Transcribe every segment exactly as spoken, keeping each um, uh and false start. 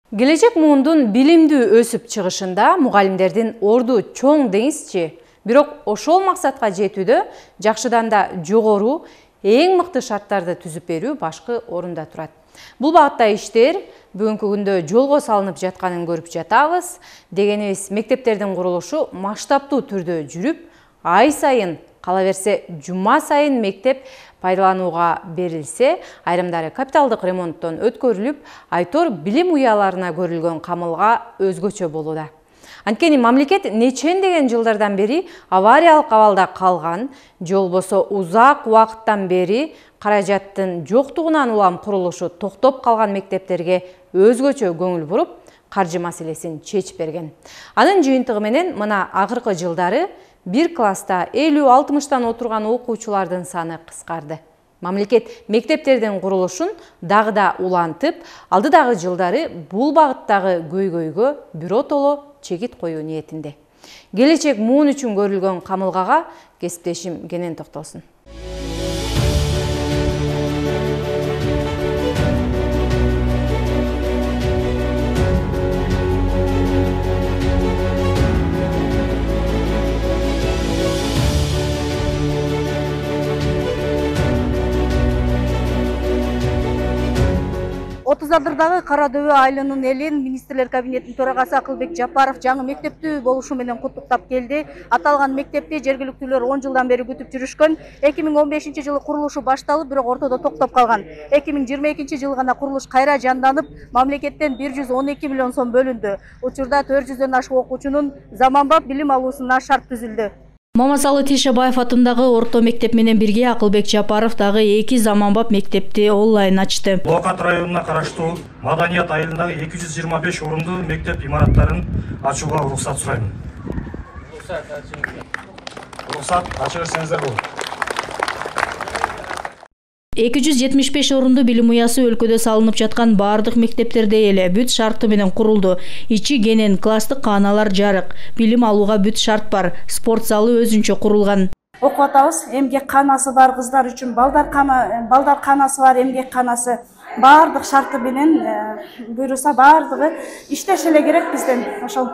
Келечек муундун билимдүү өсүп чыгышында мугалимдердин орду чоң деңизчи, бирок ошол максатка жетүүдө жакшыдан да жогору, эң мыкты шарттарды түзүп берүү башкы орунда турат. Бул багытта иштер бүгүнкү күндө жолго салынып жатканын көрүп жатабыз. Дегенибиз, мектептердин курулушу масштабтуу түрдө жүрүп, ай сайын, кала берсе жума сайын мектеп пайдаланууга берилсе, айрымдары капиталдык ремонттон өткөрүлүп, айтор билим уяларына көрүлгөн камылга өзгөчө болууда. Анткени мамлекет нечендеген жылдардан бери авариялык абалда калган, же болбосо узак убакыттан бери каражаттын жоктугунан улам курулушу токтоп калган мектептерге өзгөчө көңүл буруп, каржы маселесин чечип берген. Анын жыйынтыгы менен мына акыркы жылдары бир класста элүү алтымыштан отурган окуучулардын саны кыскарды. Мамлекет мектептердин курулушун дагы да улантып, алдыдагы жылдары бул багыттагы көйгөйгө биротоло чегит коюу ниетинде. Келечек муун үчүн көрүлгөн камылгага кесиптешим кенен токтолсун. отуз адырдагы Кара Дөбө айылынын элин министрлер кабинетинин төрагасы Акылбек Жапаров жаңы мектептүү болушу менен куттуктап келди. Аталган мектепти жергиликтүүлөр он жылдан бери күтүп жүрүшкөн. эки миң он бешинчи жылы курулушу башталып, бирок ортодо токтоп калган. эки миң жыйырма экинчи жылы гана курулуш кайра жанданып, мамлекеттен бир жүз он эки миллион сом бөлүндү. Учурда төрт жүздөн ашык окуучунун заманбап билим алуусуна шарт түзүлдү. Мамасалы Тишебаев атындагы орто мектеп менен бирге Акылбек Жапаров дагы эки заманбап мектепти онлайн ачты. Булакат районуна караштуу Маданият айылындагы эки жүз жыйырма беш орунду мектеп имараттарын ачууга уруксат сурайм. Уруксат ачып берсеңиздер болот. эки жүз жетимиш беш орунду билим уясы өлкөдө салынып жаткан баардык мектептерде эле бүт шарты менен курулду. Ичи кенен, класстык кааналар жарык, билим алууга бүт шарт бар, спорт залы өзүнчө курулган. Окуп атабыз, эмгек канасы бар кыздар үчүн балдар кана, балдар канасы бар, эмгек канасы, баардык шарты менен буйруса баардыгы иштеше эле керек бизден. Ошол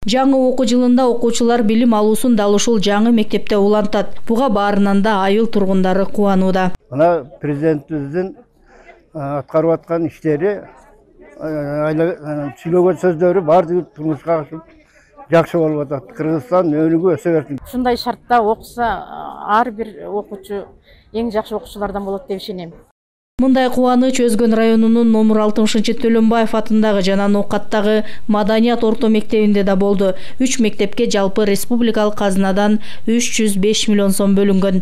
Жаңы окуу жылында окуучулар билим алуусун дал ушул жаңы мектепте улантат. Буга баарынан да айыл тургундары кубанууда. Мына президентибиздин аткарып аткан иштери, сүйлөгөн сөздөрү баардыгы турмушка ашып жакшы болуп атат. Кыргызстан өнүгүп өсө берсин. Ушундай шартта окуса, ар бир окуучу эң жакшы окуучулардан болот деп ишенем. Мындай кубаныч Өзгөн районунун номер алтымышынчы Төлөнбаев атындагы жана Ноокаттагы Маданият орто мектебинде да болду. Үч мектепке жалпы республикалык казынадан үч жүз беш миллион сом бөлүнгөн.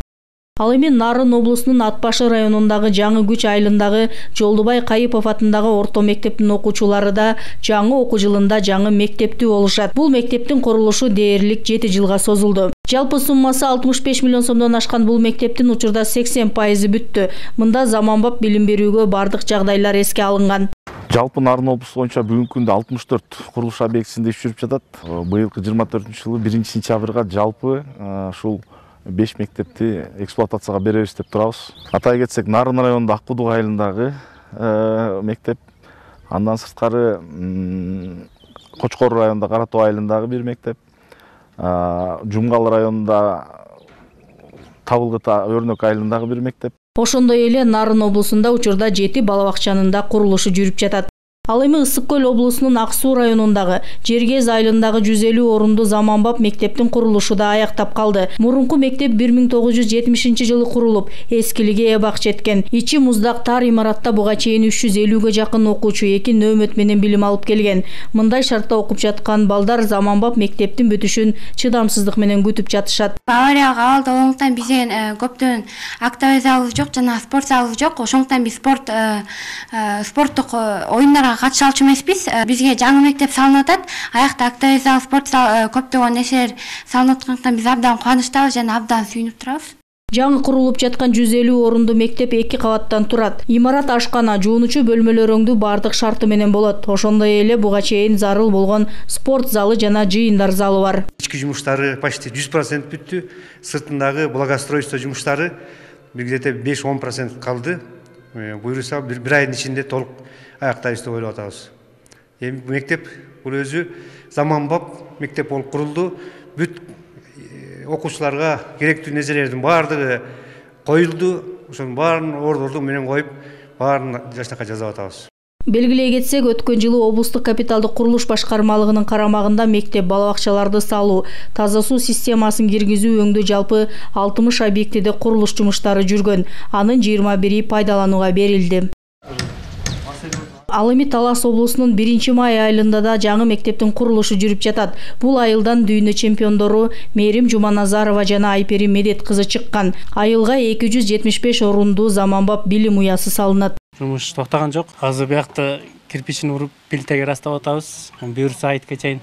Ал эми Нарын облусунун Ат башы районундагы Жаңы Күч айылындагы Жолдубай Кайыпов атындагы орто мектептин окуучулары да жаңы окуу жылында жаңы мектептүү болушат. Бул мектептин курулушу дээрлик жети жылга созулду. Жалпы суммасы алтымыш беш миллион сомдон ашкан бул мектептин учурда сексен пайызы бүттү. Мында заманбап билим берүүгө бардык жагдайлар эске алынган. Жалпы Нарын облусу боюнча бүгүнкү күндө алтымыш төрт курулуш объектисинде иш жүрүп жатат. Быйылкы жыйырма төртүнчү жылы биринчи сентябрга жалпы ушул беш мектепти эксплуатацияга беребиз деп турабыз. Атай кетсек, Нарын районунда Аккудук айылындагы мектеп, андан сырткары Кочкор районунда Кара Тоо айылындагы бир мектеп, Жумгал районунда Табылгыт Өрнөк айылындагы бир мектеп. Ошондой эле Нарын облусунда учурда жети бала бакчанын да курулушу жүрүп жатат. Ал эми Ысык көл облусунун Ак Суу районундагы Жергез айылындагы жүз элүү орунду заманбап мектептин курулушу да аяктап калды. Мурунку мектеп бир миң тогуз жүз жетимишинчи жылы курулуп, эскилиге эбак жеткен. Ичи муздак тар имаратта буга чейин үч жүз элүүгө жакын окуучу эки нөөмөт менен билим алып келген. Мындай шартта окуп жаткан балдар заманбап мектептин бүтүшүн чыдамсыздык менен күтүп жатышат. Авариялык абалда болгондуктан бизден көптөн актовый залыбыз жок жана спорт залыбыз жок. Ошондуктан биз спорт спорттук оюндарга катыша алчу эмеспиз. Бизге жаңы мектеп салынып атат. Аякта актовый зал, спорт зал, көптөгөн нерселер салынып аткандыктан биз абдан кубанычтабыз жана абдан сүйүнүп турабыз. Жаңы курулуп жаткан жүз элүү орунду мектеп эки кабаттан турат. Имарат ашкана, жуунучу бөлмөлөр өңдүү бардык шарты менен болот. Ошондой эле буга чейин зарыл болгон спорт залы жана жыйындар залы бар. Ички жумуштары почти жүз процент бүттү. Сыртындагы благоустройство жумуштары где-то беш он процент калды. Буюрса бир айдын ичинде толук аяктайбыз деп ойлоп атабыз. эми мектеп бул өзү заманбап мектеп болуп курулду. Бүт окуучуларга керектүү нерселердин баардыгы коюлду. Ошонун баарын ордорду менен коюп, баарын жакшынакай жасап атабыз. Белгилей кетсек, өткөн жылы облустук капиталдык курулуш башкармалыгынын карамагында мектеп балабакчаларды салуу, таза суу системасын киргизүү өңдүү жалпы алтымыш объектиде курулуш жумуштары жүргөн. Анын жыйырма бири пайдаланууга берилди. Ал эми Талас облусунун биринчи май айылында да жаңы мектептин курулушу жүрүп жатат. Бул айылдан дүйнө чемпиондору Мээрим Жуманазарова жана Айпери Медет кызы чыккан. Айылга эки жүз жетимиш беш орундуу заманбап билим уясы салынат. Жумуш токтогон жок. Азыр биякта кирпичин уруп, плитеге растап атабыз. Буюрса айтка чейин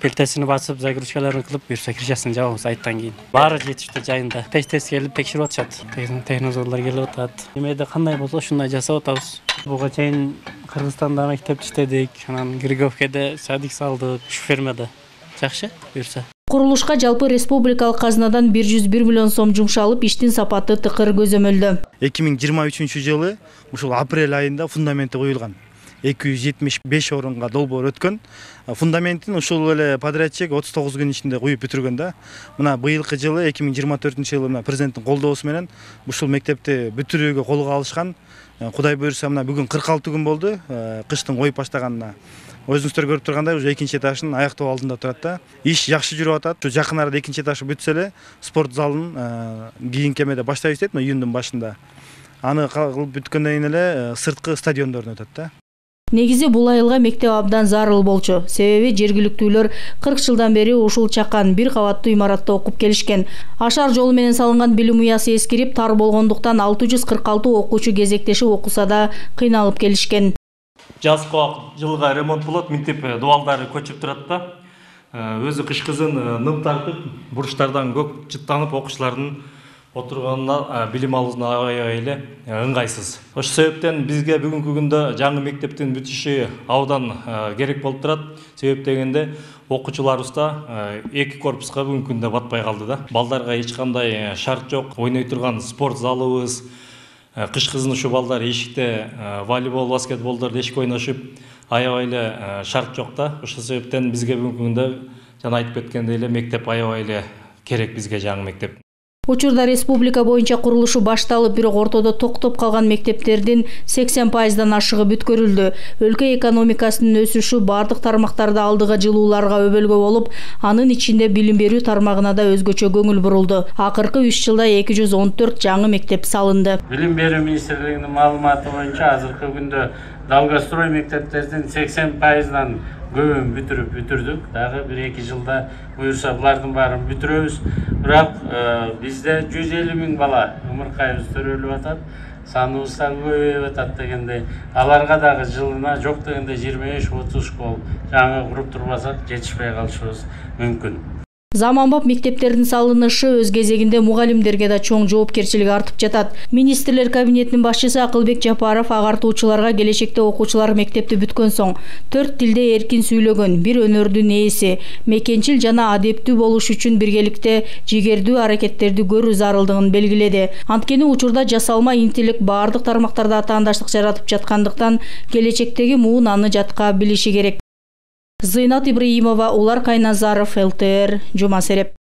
плитесин басып, загрузкаларын кылып, буюрса крышасын жабабыз айттан кийин. Баары жетиштүү жайында. Тест-тест келип текшерип атышат. Технологиялар келип атат. Эмеде кандай болсо ушундай жасап атабыз. Буга чейин Кыргызстанда мектеп иштедик, анан Григовкеде садик салдык, Шуфермеде. Жакшы, буюрса. Курулушка жалпы республикалык казынадан бир жүз бир миллион сом жумшалып, иштин сапаты тыкыр көзөмөлдө. эки миң жыйырма үчүнчү жылы ушул апрель айында фундаменти коюлган. эки жүз жетимиш беш орунга долбоор өткөн. Фундаментин ушул эле подрядчик отуз тогуз күн ичинде куюп бүтүргөн да. Мына быйылкы жылы эки миң жыйырма төртүнчү жылы мына президенттин колдоосу менен ушул мектепти бүтүрүүгө колго алышкан. Кудай буйрса мына бүгүн кырк алты күн болду кыштын коюп баштаганына. Өзүңүздөр көрүп тургандай, уже экинчи этажын аяктоо алдында турат да. Иш жакшы жүрүп атат. Жакын арада экинчи этажы бүтсө эле спорт залын кийинки эмеде баштайбыз дейт, июндун башында. Аны кылып бүткөндөн кийин эле сырткы стадиондорун өтөт да. Негизи бул айылга мектеп абдан зарыл болчу. Себеби жергиликтүүлөр кырк жылдан бери ушул чакан бир кабаттуу имаратта окуп келишкен. Ашар жолу менен салынган билим уясы эскирип, тар болгондуктан алты жүз кырк алты окуучу кезектешип окуса да кыйналып келишкен. Жазга жылга ремонт болот, минтип дубалдары көчүп турат да. Өзү кыш кызын ным тартып, бурчтардан көк жыттанып окуучулардын отурганына билим алуусуна аябай эле ыңгайсыз. Ошол себептен бизге бүгүнкү күндө жаңы мектептин бүтүшү абдан керек болуп турат. Себеп дегенде окуучуларыбызда эки корпуска бүгүнкү күндө батпай калды да. Балдарга эч кандай шарт жок, ойной турган спорт залыбыз, кыш кызын ушу балдар эшикте волейбол, баскетболдорду эшик ойношуп, аябай эле шарт жок да. Ошол себептен бизге бүгүнкү күндө жана айтып кеткендей эле мектеп аябай эле керек бизге жаңы мектеп. Учурда республика боюнча курулушу башталып, бирок ортодо токтоп калган мектептердин сексен пайыздан ашыгы бүткөрүлдү. Өлкө экономикасынын өсүшү бардык тармактарда алдыга жылууларга өбөлгө болуп, анын ичинде билим берүү тармагына да өзгөчө көңүл бурулду. Акыркы үч жылда эки жүз он төрт жаңы мектеп салынды. Билим берүү министрлигинин маалыматы боюнча азыркы күндө Далгострой мектептердин сексен пайыздан көбүн бүтүрүп бүтүрдүк. Дагы бир эки жылда буюрса булардын баарын бүтүрөбүз. Бирок бизде жүз элүү миң бала умуркайыбыз төрөлүп атат. Саныбыз да көбөйүп атат дегенде, аларга дагы жылына жок дегенде жыйырма беш отуз школ жаңы куруп турбасак жетишпей калышыбыз мүмкүн. Заманбап мектептердин салынышы өз кезегинде мугалимдерге да чоң жоопкерчилик артып жатат. Министрлер кабинетинин башчысы Акылбек Жапаров агартуучуларга келечекте окуучулар мектепти бүткөн соң төрт тилде эркин сүйлөгөн, бир өнөрдүн ээси, мекенчил жана адептүү болуш үчүн биргеликте жигердүү аракеттерди көрүү зарылдыгын белгиледи. Анткени учурда жасалма интеллект бардык тармактарда атаандаштык жаратып жаткандыктан келечектеги муун аны жатка билиши керек. Зыйнат Ибраимова, Улар Кайназаров, эл тэ эр, Жума Сереп.